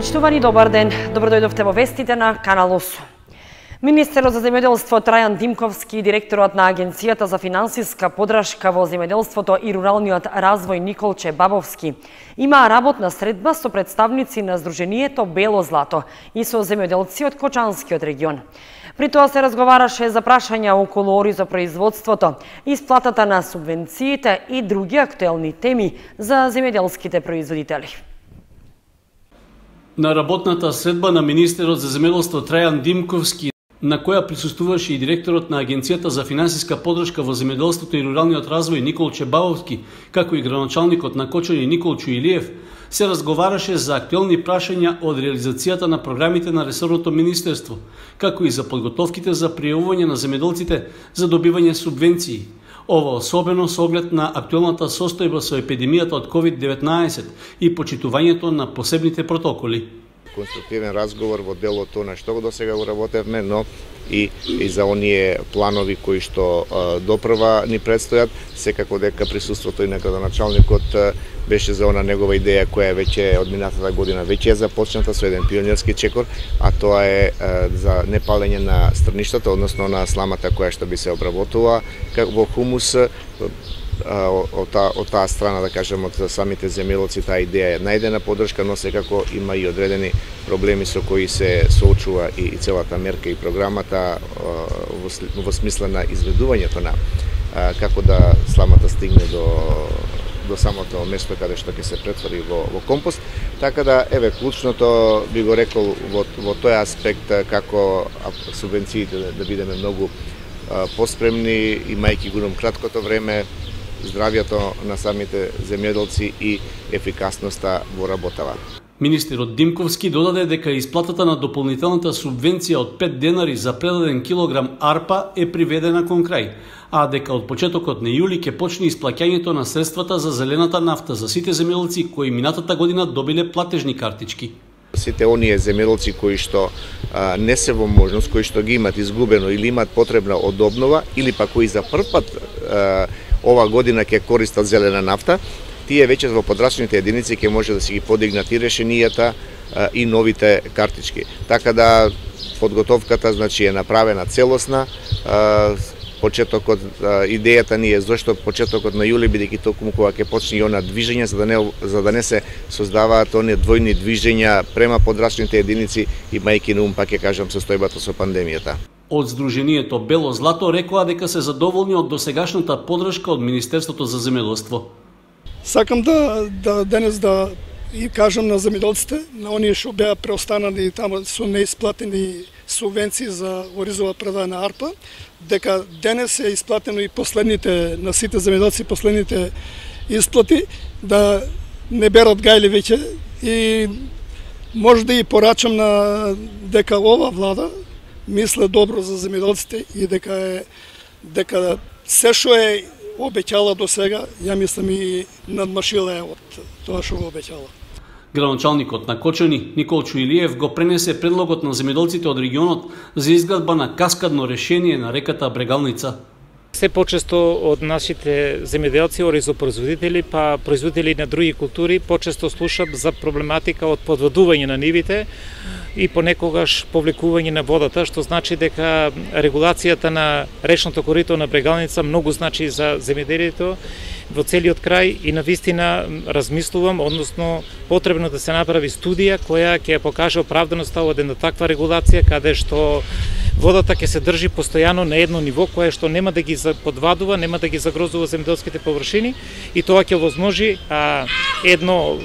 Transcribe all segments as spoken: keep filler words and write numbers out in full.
Почитувани, добар ден. Добро дојдовте во вестите на Канал осум. Министерот за земјоделство Трајан Димковски и директорот на Агенцијата за финансиска подршка во земјоделството и руралниот развој Николче Бабовски имаа работна средба со представници на Сдруженијето Бело злато и со земјоделци од Кочанскиот регион. При тоа се разговараше за прашања околу оризопроизводството, исплатата на субвенциите и други актуелни теми за земјоделските производители. На работната средба на министерот за земјоделство Трајан Димковски, на која присуствуваше и директорот на Агенцијата за финансиска подршка во земјоделството и руралниот развој Николче Бабовски, како и градоначалникот на Кочани Николчо Илиев, се разговараше за актуелни прашања од реализацијата на програмите на ресорното министерство, како и за подготовките за пријавување на земјоделците за добивање субвенции. Ова особено со оглед на актуелната состојба со епидемијата од ковид деветнаесет и почитувањето на посебните протоколи. Конструктивен разговор во делото на што го досега го работевме, но и, и за оние планови кои што а, допрва ни предстојат, секако дека присуството и на градоначалникот беше за она негова идеја која веќе од минатата година веќе е започната со еден пионерски чекор, а тоа е а, за непалење на страништата, односно на сламата која што би се обработува во хумус. Од таа, од таа страна, да кажем, од самите земјоделци, таа идеја е најдена поддршка, но секако има и одредени проблеми со кои се соочува и, и целата мерка и програмата во, во смисла на изведувањето на како да сламата стигне до до самото место каде што ќе се претвори во, во компост. Така да, еве, клучното би го рекол во, во тој аспект како субвенциите да, да бидеме многу поспремни, имајќи го краткото време, здравјето на самите земјоделци и ефикасноста во работава. Министерот Димковски додаде дека исплатата на дополнителната субвенција од пет денари за предаден килограм арпа е приведена кон крај, а дека од почетокот на јули ќе почне исплаќањето на средствата за зелената нафта за сите земјоделци кои минатата година добиле платежни картички. Сите оние земјоделци кои што а, не се во можност, кои што ги имат изгубено или имат потребна од обнова, или па кои за прв пат а, ова година ќе користат зелена нафта, тие веќе во подрачните единици ќе може да се ги подигнат и решенијата а, и новите картички. Така да подготовката значи е направена целосна. А, почетокот а, идејата ни е зашто почетокот на јули, бидејќи токму кога ќе почне и она движење, за да не за да не се создаваат оние двојни движења према подрачните единици, имајќи на ум, пак ќе кажам, состојбата со пандемијата. Од Сдруженијето Бело злато рекоа дека се задоволни од досегашната поддршка од Министерството за земјоделство. Сакам да, да денес да и кажам на земјоделците, на оние што беа преостанали таму со неисплатени субвенции за оризова предадена арпа, дека денес е исплатено и последните на сите земјоделци последните исплати, да не берат гајли веќе, и може да и порачам на дека ова влада мисле добро за земјоделците и дека е дека се што е обеќала до сега, ја мислам и надмашила е од тоа што го обеќала. Градоначалникот на Кочани Николчо Илиев го пренесе предлогот на земјоделците од регионот за изградба на каскадно решение на реката Брегалница. Се почесто од нашите земјоделци, оризопроизводители, па производители на други култури, почесто слушат за проблематика од подводување на нивите и понекогаш повлекување на водата, што значи дека регулацијата на речното корито на Брегалница многу значи за земјоделието во целиот крај, и навистина размислувам, односно потребно да се направи студија која ќе покаже оправданоста од една таква регулација, каде што водата ќе се држи постојано на едно ниво кое што нема да ги подвадува, нема да ги загрозува земјоделските површини, и тоа ќе возможи а, едно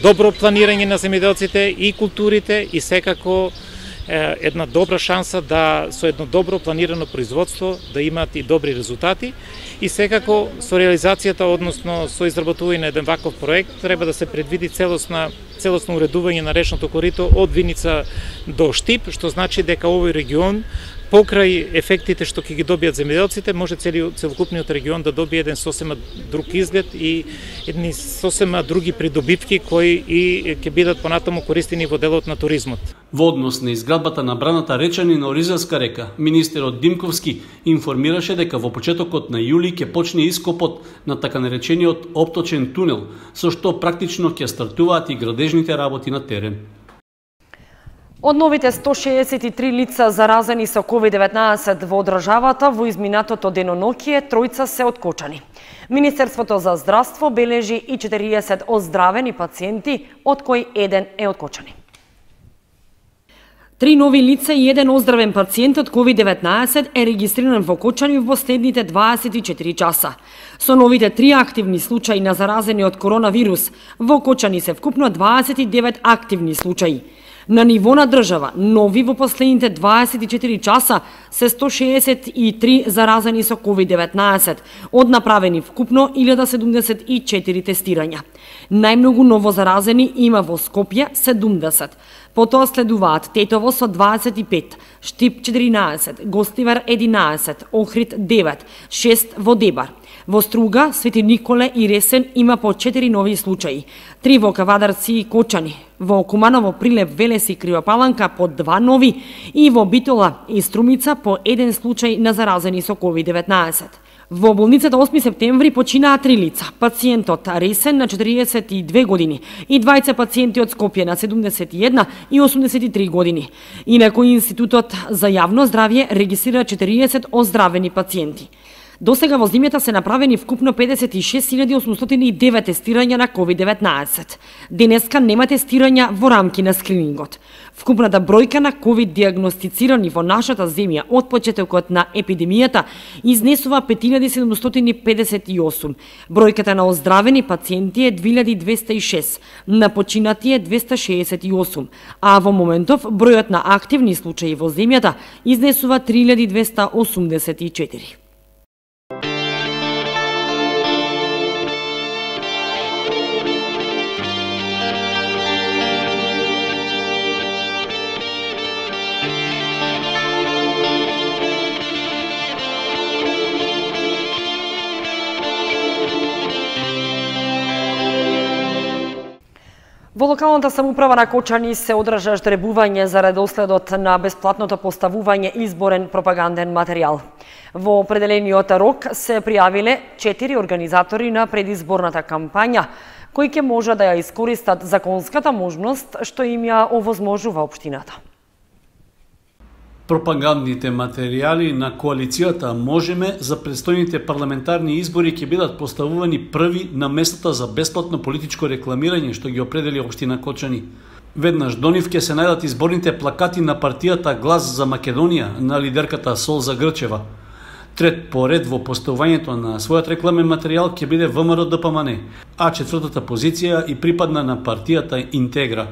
добро планирање на земјоделците и културите, и секако е, една добра шанса да со едно добро планирано производство да имаат и добри резултати. И секако со реализацијата, односно со изработување на еден ваков проект, треба да се предвиди целосна целосно уредување на речното корито од Виница до Штип, што значи дека овој регион, покрај ефектите што ќе ги добијат земјоделците, може цели, целокупниот регион да добие еден сосема друг изглед и едни сосема други придобивки кои и ќе бидат понатаму користени во делот на туризмот. Во однос на изградбата на браната Речани на Оризарска река, министерот Димковски информираше дека во почетокот на јули ќе почне ископот на така наречениот опточен тунел, со што практично ќе стартуваат и градежните работи на терен. Од новите сто шеесет и три лица заразени со ковид деветнаесет во државата во изминатото деноноќие, тројца се откочани. Министерството за здравство бележи и четириесет оздравени пациенти, од кои еден е откочани. Три нови лица и еден оздравен пациент од ковид деветнаесет е регистриран во Кочани во последните дваесет и четири часа. Со новите три активни случаи на заразени од коронавирус, во Кочани се вкупно дваесет и девет активни случаи. На ниво на држава, нови во последните дваесет и четири часа се сто шеесет и три заразени со ковид деветнаесет, од направени вкупно илјада седумдесет и четири тестирања. Најмногу ново заразени има во Скопје седумдесет, потоа следуваат Тетово со дваесет и пет, Штип четиринаесет, Гостивар единаесет, Охрид девет, шест во Дебар. Во Струга, Свети Николе и Ресен има по четири нови случаи, три во Кавадарци и Кочани, во Куманово, Прилеп, Велес и Кривопаланка по два нови и во Битола и Струмица по еден случај на заразени со ковид деветнаесет. Во болницата осми септември починаа три лица. Пациентот Ресен на четириесет и две години и двајца пациенти од Скопје на седумдесет и една и осумдесет и три години. Инаку Институтот за јавно здравје регистрира четириесет оздравени пациенти. До сега во зимјата се направени вкупно педесет и шест илјади осумстотини и девет тестирања на ковид деветнаесет. Денеска нема тестирања во рамки на скринингот. Вкупната бројка на ковид диагностицирани во нашата земја од почетокот на епидемијата изнесува пет илјади седумстотини педесет и осум. Бројката на оздравени пациенти е две илјади двесте и шест, на починати е двесте шеесет и осум, а во моментов бројот на активни случаи во земјата изнесува три илјади двесте осумдесет и четири. Во локалната самоуправа на Кочани се одржа ждребување за редоследот на бесплатното поставување изборен пропаганден материјал. Во определениот рок се пријавиле четири организатори на предизборната кампања, кои ќе може да ја искористат законската можност што им ја овозможува општината. Пропагандните материјали на коалицијата Можеме за предстојните парламентарни избори ќе бидат поставувани први на местата за бесплатно политичко рекламирање што ги определи општина Кочани. Веднаш до нив ќе се најдат изборните плакати на партијата Глас за Македонија на лидерката Солза Грчева. Трет по ред во поставувањето на својот рекламен материјал ќе биде ВМРО Д П М Н, а четвртата позиција и припадна на партијата Интегра.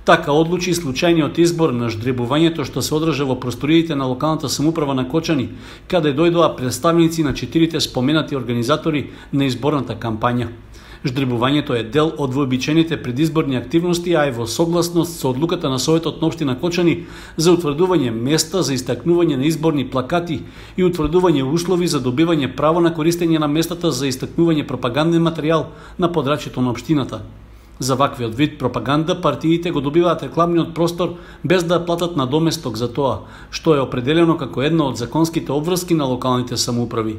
Така одлучи случајниот избор на ждребувањето што се одржа во просториите на локалната самоуправа на Кочани, каде дојдоа представници на четирите споменати организатори на изборната кампања. Ждребувањето е дел од вообичаените предизборни активности, а е во согласност со одлуката на Советот на општина Кочани за утврдување места за истакнување на изборни плакати и утврдување услови за добивање право на користење на местата за истакнување пропаганден материјал на подрачјето на општината. За ваквиот вид пропаганда партиите го добиваат рекламниот простор без да платат надоместок за тоа, што е определено како една од законските обврски на локалните самоуправи.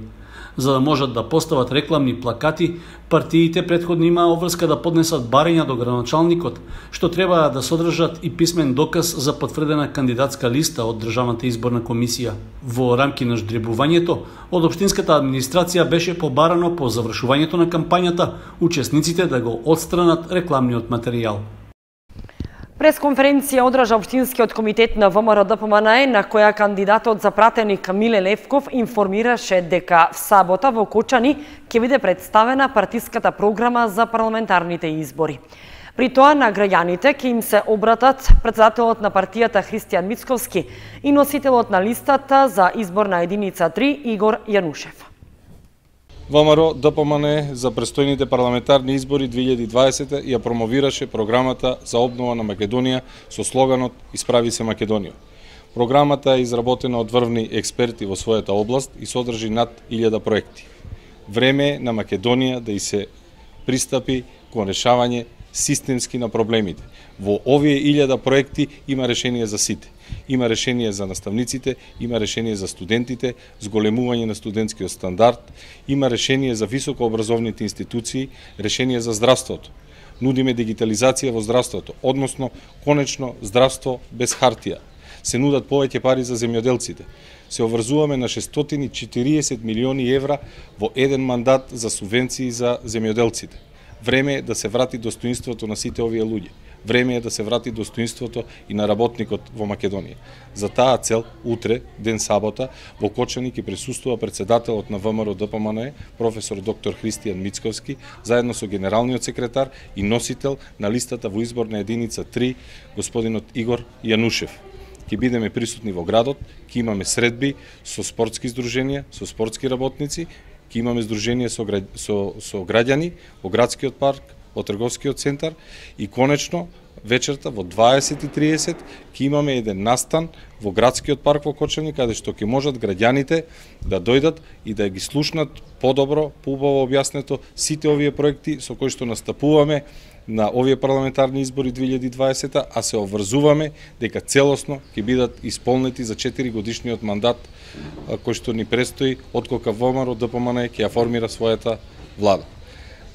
За да можат да постават рекламни плакати, партиите претходно имаа обврска да поднесат барања до градоначалникот, што треба да содржат и писмен доказ за потврдена кандидатска листа од Државната изборна комисија. Во рамки на ждребувањето, од општинската администрација беше побарано по завршувањето на кампањата учесниците да го отстранат рекламниот материјал. Пресконференција одржа Општинскиот комитет на ВМРО Д П М Н, на која кандидатот за пратеник Миле Левков информираше дека в сабота во Кочани ќе биде представена партиската програма за парламентарните избори. При тоа на граѓаните ќе им се обратат председателот на партијата Христијан Мицковски и носителот на листата за изборна единица три Игор Јанушев. ВМРО Д П М Н за престојните парламентарни избори две илјади и дваесета ја промовираше програмата за обнова на Македонија со слоганот Исправи се Македонија. Програмата е изработена од врвни експерти во својата област и содржи над илјада проекти. Време е на Македонија да и се пристапи кон решавање системски на проблемите. Во овие илјада проекти има решение за сите. Има решение за наставниците, има решение за студентите, зголемување на студентскиот стандард, има решение за високообразовните институции, решение за здравството. Нудиме дигитализација во здравството, односно конечно здравство без хартија. Се нудат повеќе пари за земјоделците. Се обврзуваме на шестстотини и четириесет милиони евра во еден мандат за субвенции за земјоделците. Време е да се врати достоинството на сите овие луѓе. Време е да се врати достоинството и на работникот во Македонија. За таа цел, утре, ден сабота, во Кочани ќе присуствува председателот на ВМРО Д П М Н, професор доктор Христијан Мицковски, заедно со генералниот секретар и носител на листата во изборна единица три, господинот Игор Јанушев. Ќе бидеме присутни во градот, ќе имаме средби со спортски здруженија, со спортски работници, ќе имаме здружение со, со, со граѓани во градскиот парк, во трговскиот центар и конечно вечерта во дваесет и триесет ќе имаме еден настан во градскиот парк во Кочани, каде што ќе можат граѓаните да дојдат и да ги слушнат подобро, поубаво објаснето сите овие проекти со кои што настапуваме на овие парламентарни избори две илјади и дваесета, а се обврзуваме дека целосно ќе бидат исполнети за четири годишниот мандат кој што ни престои откога ВМРО Д П М Н ќе ја формира својата влада.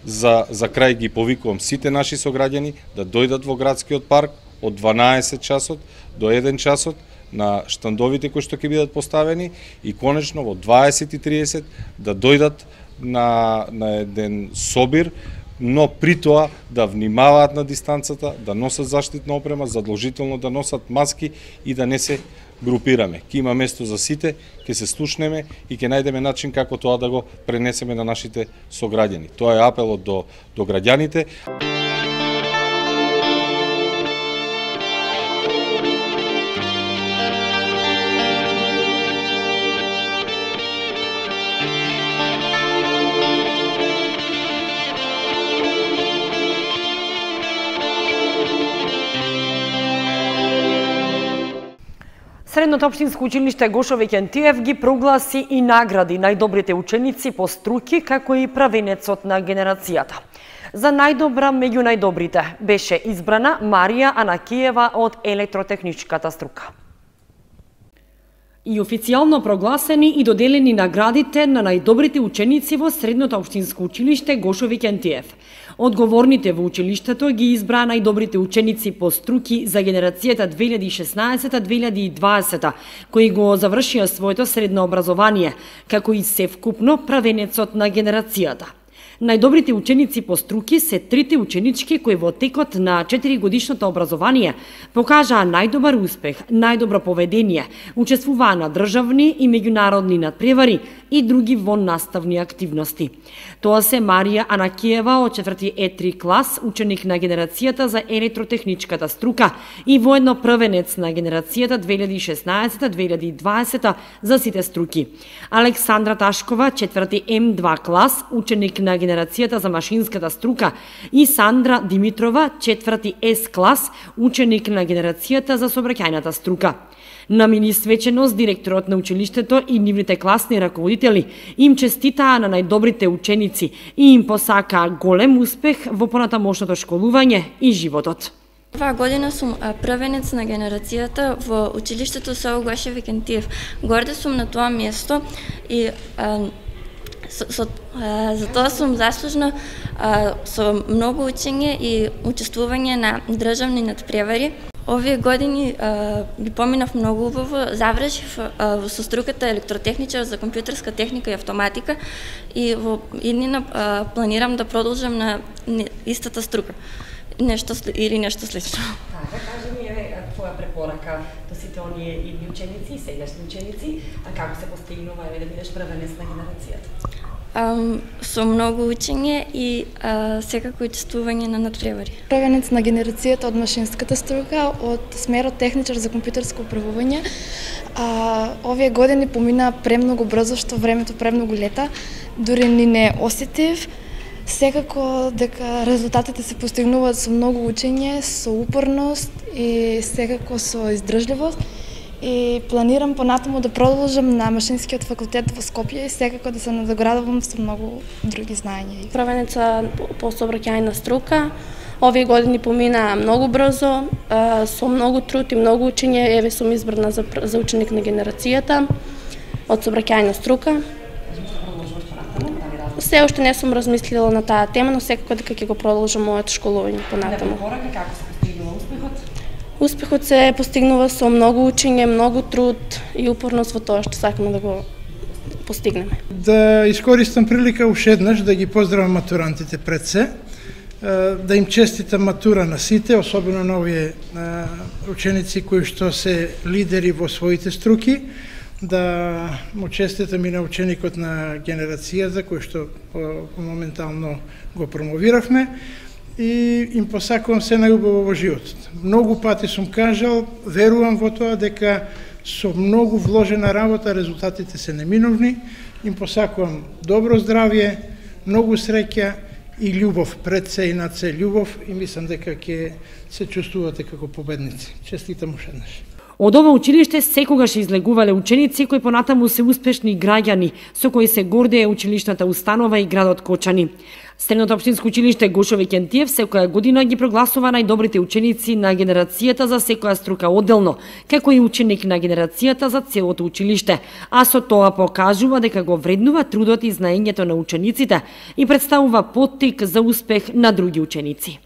За, за крај ги повикувам сите наши сограѓани да дојдат во градскиот парк од дванаесет часот до еден часот на штандовите кои што ќе бидат поставени и конечно во дваесет и триесет да дојдат на, на еден собир, но при тоа да внимаваат на дистанцата, да носат заштитна опрема, задолжително да носат маски и да не се групираме. Ке има место за сите, ќе се слушнеме и ќе најдеме начин како тоа да го пренесеме на нашите сограѓани. Тоа е апелот до, до граѓаните. Средното општинско училиште Гошо Викентиев ги прогласи и награди најдобрите ученици по струки, како и правенецот на генерацијата. За најдобра меѓу најдобрите беше избрана Марија Анакиева од електротехничката струка. И официјално прогласени и доделени наградите на најдобрите ученици во Средното општинско училиште Гошо Викентиев. Одговорните во училиштето ги избраа најдобрите ученици по струки за генерацијата две илјади и шеснаесета - две илјади и дваесета, кои го завршија своето средно образование, како и севкупно правенецот на генерацијата. Најдобрите ученици по струки се трите ученички кои во текот на четиригодишното образование покажаа најдобар успех, најдобро поведение, учествуваа на државни и меѓународни надпревари и други воннаставни активности. Тоа се Марија Анакиева од четврти Е три клас, ученик на генерацијата за електротехничката струка и воедно првенец на генерацијата две илјади и шеснаесета - две илјади и дваесета за сите струки. Александра Ташкова, четврти Ем два клас, ученик на генерацијата за машинската струка и Сандра Димитрова, четврти С клас, ученик на генерацијата за сообраќајната струка. На мини свеченост директорот на училиштето и нивните класни раководители им честитаа на најдобрите ученици и им посакаа голем успех во понатамошното школување и животот. Оваа година сум првенец на генерацијата во училиштето село Гошо Викентиев. Горда сум на тоа место и а, со, со, а, за тоа сум заслужна а, со многу учење и учествување на државни надпревари. Овие години а, ги поминав многу убаво, завршив а, со струката електротехничар за компјутерска техника и автоматика и во иднина а, планирам да продолжам на истата струка. Нешто или нешто слично. Така, кажи ми еве твоја препорака до сите оние идни ученици и сегашни ученици, а како се постигнува еве да бидеш првенец на генерацијата? Um, со многу учење и uh, секако учествување на надпревари. Првенец на генерацијата од машинската струка од смерот техничар за компјутерско управување. Uh, овие години помина премногу брзо, што времето премногу лета, дури ни не осетив. Секако дека резултатите се постигнуваат со многу учење, со упорност и секако со издржливост. И планирам понатаму да продолжам на машинскиот факултет во Скопје и секако да се надоградувам со многу други знаења. Првенеца по сообраќајна струка, Овие години помина многу брзо, со многу труд и многу учење. Еве сум избрана за, за ученик на генерацијата од сообраќајна струка. Се уште не сум размислила на таа тема, но секако дека ќе го продолжам моето школување понатаму. Како се постигнува успехот? Успехот се постигнува со многу учење, многу труд и упорност во тоа што сакаме да го постигнеме. Да искористам прилика уште еднаш да ги поздравам матурантите пред се, да им честитам матура на сите, особено на овие ученици кои што се лидери во своите струки, да му честитам и на ученикот на генерацијата кој што моментално го промовиравме и им посакувам се најубаво во животот. Многу пати сум кажал, верувам во тоа дека со многу вложена работа резултатите се неминовни. Им посакувам добро здравје, многу среќа и љубов, пред се и над се љубов, и мислам дека ќе се чувствувате како победници. Честитам уште еднаш. Од ова училиште секогаш излегувале ученици кои понатаму се успешни граѓани, со кои се гордее училишната установа и градот Кочани. Средното општинско училиште Гошо Викентиев секоја година ги прогласува најдобрите ученици на генерацијата за секоја струка одделно, како и ученик на генерацијата за целото училиште, а со тоа покажува дека го вреднува трудот и знаењето на учениците и представува поттик за успех на други ученици.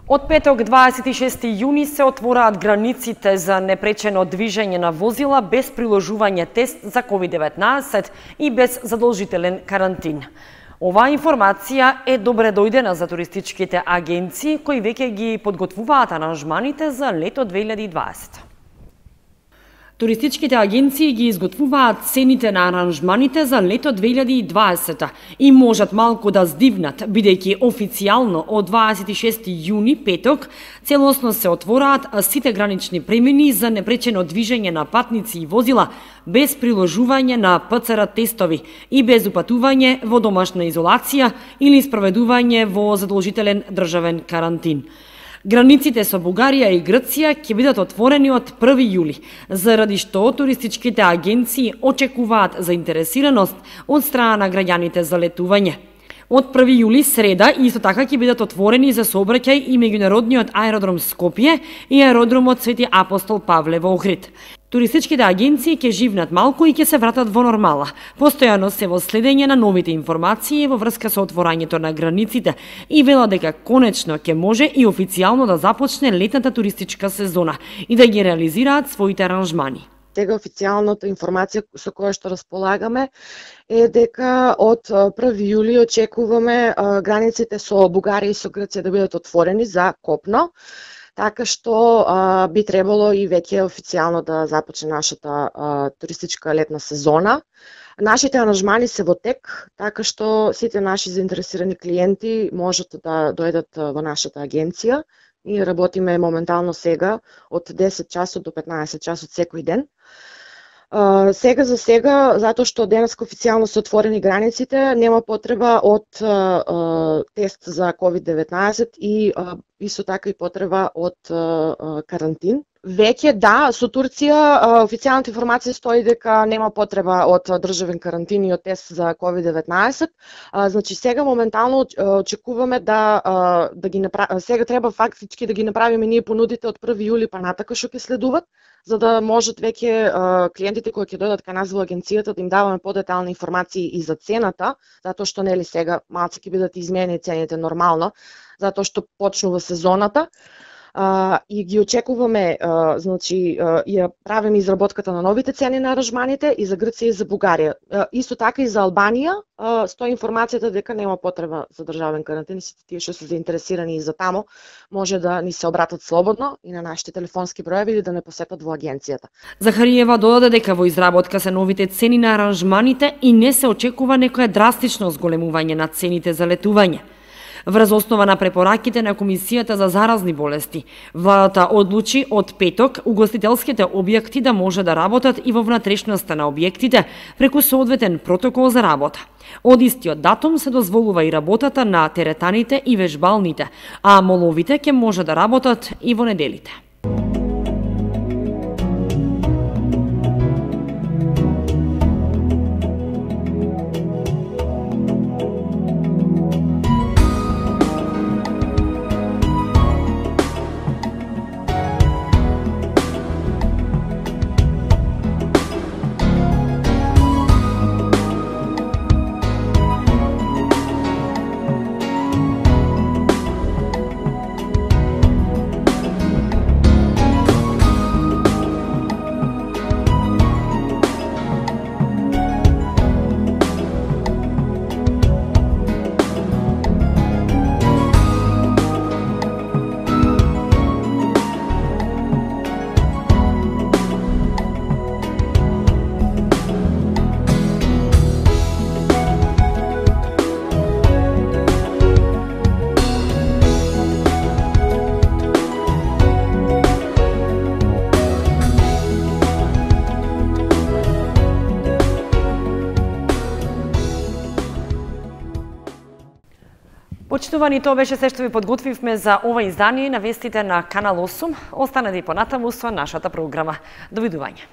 Од петок дваесет и шести јуни се отвораат границите за непречено движење на возила без приложување тест за ковид деветнаесет и без задолжителен карантин. Оваа информација е добре дојдена за туристичките агенции кои веќе ги подготвуваат аранжманите за лето две илјади и дваесета. Туристичките агенции ги изготвуваат цените на аранжманите за лето две илјади и дваесета и можат малку да здивнат, бидејќи официјално од дваесет и шести јуни, петок, целосно се отвораат сите гранични премини за непречено движење на патници и возила без приложување на П Ц Р тестови и без упатување во домашна изолација или спроведување во задолжителен државен карантин. Границите со Бугарија и Грција ќе бидат отворени од први јули, заради што туристичките агенции очекуваат заинтересираност од страна на граѓаните за летување. Од први јули, среда, исто така ќе бидат отворени за сообраќај и меѓународниот аеродром Скопје и аеродромот Свети Апостол Павле во Охрид. Туристичките агенции ќе живнат малку и ќе се вратат во нормала. Постојано се во следење на новите информации во врска со отворањето на границите и вела дека конечно ќе може и официјално да започне летната туристичка сезона и да ги реализираат своите аранжмани. Сега официјалната информација со која што располагаме е дека од први јули очекуваме границите со Бугарија и со Грција да бидат отворени за копно, така што а, би требало и веќе официјално да започне нашата а, туристичка летна сезона. Нашите аранжмани се во тек, така што сите наши заинтересирани клиенти можат да дојдат во нашата агенција. Ние работиме моментално сега од десет часот до петнаесет часот секој ден. Uh, сега за сега, затоа што денеска официјално се отворени границите, нема потреба од uh, uh, тест за ковид деветнаесет и uh, исто така и потреба од uh, карантин. Веќе да, со Турција uh, официјалната информација стои дека нема потреба од државен карантин и од тест за ковид деветнаесет. Uh, значи сега моментално очекуваме да uh, да ги направи, сега треба фактички да ги направиме ние понудите од први јули па натака што ќе следуват, за да можат веќе uh, клиентите кои ќе дојдат кај нас во агенцијата да им даваме подетални информации и за цената, затоа што нели сега малку ќе бидат изменени цените нормално, затоа што почнува сезоната. Uh, и ги очекуваме, uh, значи, uh, ја правиме изработката на новите цени на аранжманите и за Грција и за Бугарија. Uh, исто така и за Албанија uh, стои информацијата дека нема потреба за државен карантин, сите тие што се заинтересирани и за тамо може да ни се обратат слободно и на нашите телефонски броеви или да не посетат во агенцијата. Захариева додаде дека во изработка се новите цени на аранжманите и не се очекува некое драстично зголемување на цените за летување. Врз основа на препораките на Комисијата за заразни болести, владата одлучи од петок угостителските објекти да може да работат и во внатрешноста на објектите преку соодветен протокол за работа. Од истиот датум се дозволува и работата на теретаните и вежбалните, а моловите ќе може да работат и во неделите. Почитувани, тоа беше се што ви подготвивме за ова издание на вестите на Канал осум. Останете и понатаму со нашата програма. Довидување.